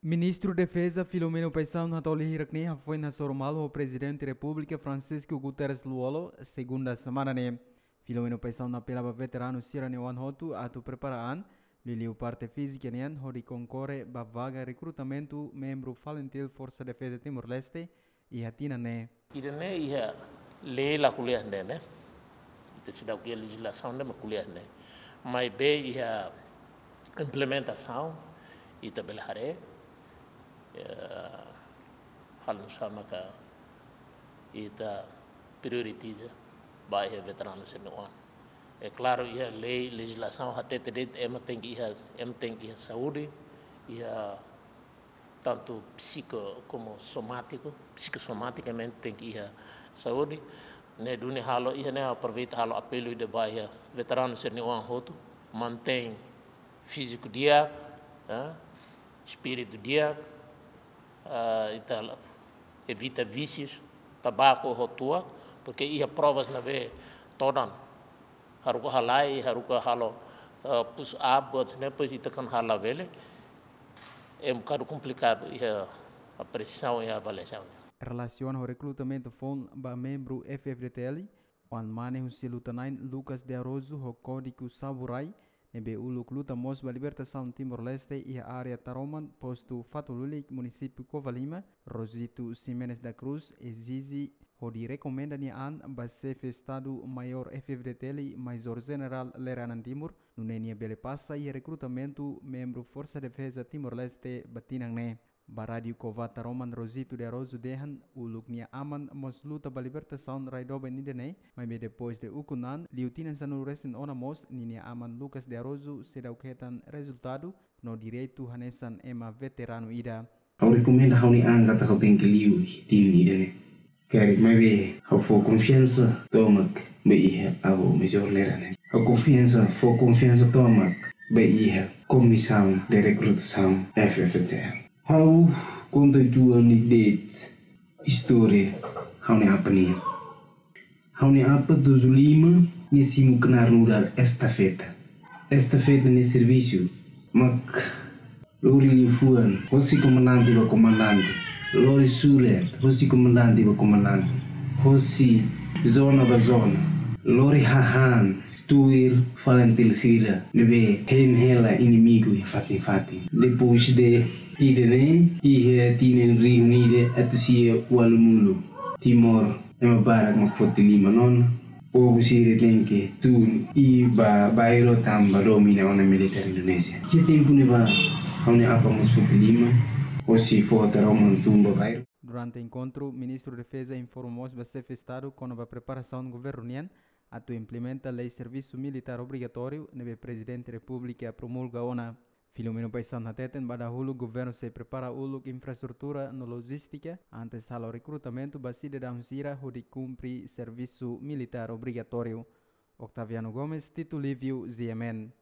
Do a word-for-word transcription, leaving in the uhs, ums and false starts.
Ministru Defeza Filomeno Paixão hato'o lia hirak-ne'e hafoin hasoru malu ho Prezidente Repúblika Francisco Guterres Lú-Olo, segunda semana ne'e. Filomeno Paixão apela ba veteranu sira-nia oan hotu atu prepara an, liuliu parte fízika nian hodi konkorre ba vaga rekrutamentu membru FALINTIL Forsa Defeza Timor-Leste iha tinan ne'e. Ida-ne'e iha lei la ko'alia ne'e, ne'e. Ita seidauk iha lejizlasaun ne'e mak ko'alia ne'e. Maibé iha implementasaun ita bele haree, eh, halo nu'usá maka ita prioritiza ba iha veteranu sira-nia oan. É klaru, iha lei, lejizlasaun hatete de'it ema tenke iha, ema tenke iha saúde, iha tantu psíkiku komu somátiku, psikossomaticamente tenke iha saúde. Ne'e duni halo, iha ne'e aproveita halo apelu ida ba iha veteranu sira-nia oan hotu, mantein fíziku di'ak, eh, espíritu di'ak, eh, ita evita vísius, tabaku ho tuak, porque iha provas ne'ebé todan haruka halai, haruka halo, eh, push up, buat ne'e, depois ita kan hala'o bele. É um bocado complicado iha apresiasaun, iha avaliasaun. Relasiona ho rekrutamentu foun ba membru F-FDTL, oan mane husi luta-na'in Lucas de Araújo ho Código Saburai, ne'ebé uluk luta mós ba libertasaun Timor-Leste iha área Taroman, postu Fatululik, munisípiu Covalima, Rosito Ximenes da Cruz ezije hodi rekomenda nia an ba Xefe Estadu Maiór F-FDTL, Majór Jenerál Lere Anan Timur, nune'e nia bele pasa iha rekrutamentu membru Forsa Defeza Timor-Leste ba tinan ne'e. Ba Rádiu Cova Taroman, Rosito de Araújo dehan uluk nia aman mós luta ba libertasaun rai doben ida-ne'e, maibé depois de ukun an, liu tinan sanulu-resin-ona mós, ninia aman Lucas de Araújo seidauk hetan rezultadu no direitu hanesan ema veteranu ida. Ha'u rekomenda ha'u-nia an katak ha'u tenke liu tinan ida-ne'e. Karik maibé ha'u fó konfiansa tomak ba iha avó Majór Lere Anan. Ha'u konfiansa, fó konfiansa tomak ba iha Komisaun de Rekrutasaun F-FDTL. Ha'u konta uitoan de'it istória ha'u-nia apa nian. Ha'u-nia apa tujuh lima nia simu knaar nu'udar estafeta. Estafeta nia servisu mak lori liafuan hosi komandante ba komandante, lori surat hosi komandante ba komandante, hosi zona ba zona, lori hahán tuir FALINTIL sira ne'ebé hein hela inimigu iha fatin-fatin. Depois de ida-ne'e, iha tinan rihun ida atus sia ualunulu, Timor ema barak mak foti liman ona. Povu sira tenke tun i bá bairru tanba domina ona militár Indonézia. Iha tempu ne'ebá ha'u-nia apa mós foti liman, hosi Foho Taroman tun ba bairru. Durante enkontru, Ministru Defeza informa mós ba Xefe Estadu kona-ba preparasaun governu nian atu implementa lei servisu militár obrigatóriu ne'ebé Prezidente Repúblika promulga ona. Filomeno Paixão hateten ba dahuluk governu sei prepara uluk infraestrutura no lojístika antes halo rekrutamentu ba sidadaun sira hodi kumpre servisu militár obrigatóriu. Octaviano Gomes, Tito Livio, G M N.